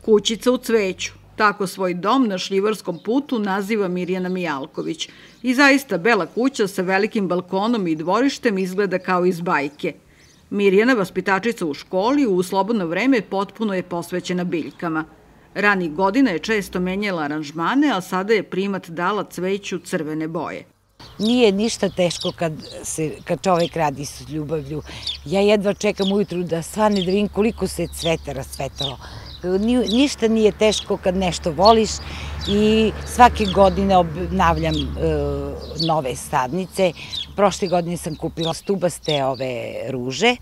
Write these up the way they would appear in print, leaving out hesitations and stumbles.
Kućica u cveću. Tako svoj dom na Šljivarskom putu naziva Mirjana Mijalković. I zaista bela kuća sa velikim balkonom i dvorištem izgleda kao iz bajke. Mirjana, vaspitačica u školi, u slobodno vreme potpuno je posvećena biljkama. Ranih godina je često menjala aranžmane, a sada je primat dala cveću crvene boje. Nije ništa teško kad čovek radi s ljubavlju. Ja jedva čekam ujutru da svane da vidim koliko se cveta rasvetalo. Ništa nije teško kad nešto voliš i svake godine obnavljam nove sadnice. Prošle godine sam kupila stubaste ove ruže,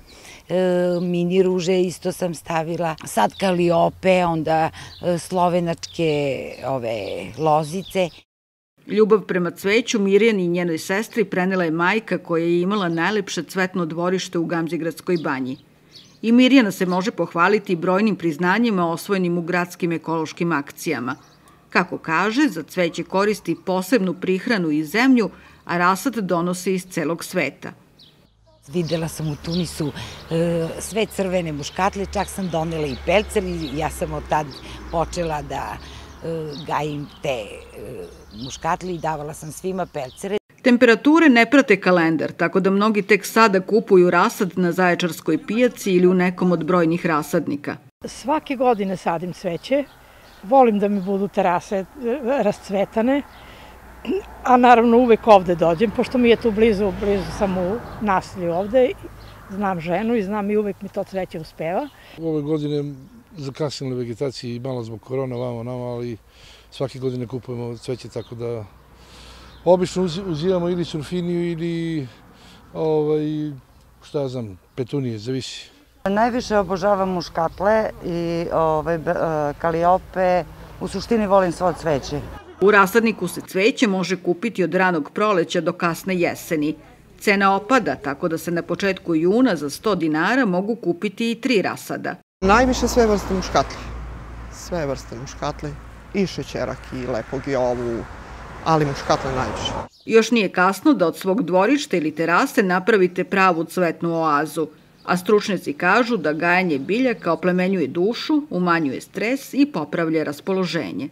mini ruže isto sam stavila, sad kaliope, onda slovenačke ove lozice. Ljubav prema cveću Mirjani i njenoj sestri prenela je majka koja je imala najlepše cvetno dvorište u Gamzigradskoj banji. I Mirjana se može pohvaliti brojnim priznanjima osvojenim u gradskim ekološkim akcijama. Kako kaže, za cveće koristi posebnu prihranu i zemlju, a rasad donosi iz celog sveta. Videla sam u Tunisu sve crvene muškatle, čak sam donela i pelcer i ja sam od tad počela da gajim te muškatle i davala sam svima pelcere. Temperature ne prate kalendar, tako da mnogi tek sada kupuju rasad na Zaječarskoj pijaci ili u nekom od brojnih rasadnika. Svake godine sadim cveće, volim da mi budu terase rascvetane, a naravno uvek ovde dođem, pošto mi je tu blizu sam u naselju ovde, znam ženu i znam i uvek mi to cveće uspeva. Ove godine zakasnila vegetaciji malo zbog korona vamo nama, ali svake godine kupujemo cveće, tako da obično uzimamo ili surfiniju ili šta znam, petunije, zavisi. Najviše obožavam muškatle i kaliope, u suštini volim svo cveće. U rasadniku se cveće može kupiti od ranog proleća do kasne jeseni. Cena opada, tako da se na početku juna za 100 dinara mogu kupiti i 3 rasada. Najviše sve vrste muškatle. Sve vrste muškatle. I šećerak, i lepog, i ovu, ali muškatle najviše. Još nije kasno da od svog dvorišta ili terase napravite pravu cvetnu oazu, a stručnjaci kažu da gajanje biljaka oplemenjuje dušu, umanjuje stres i popravlja raspoloženje.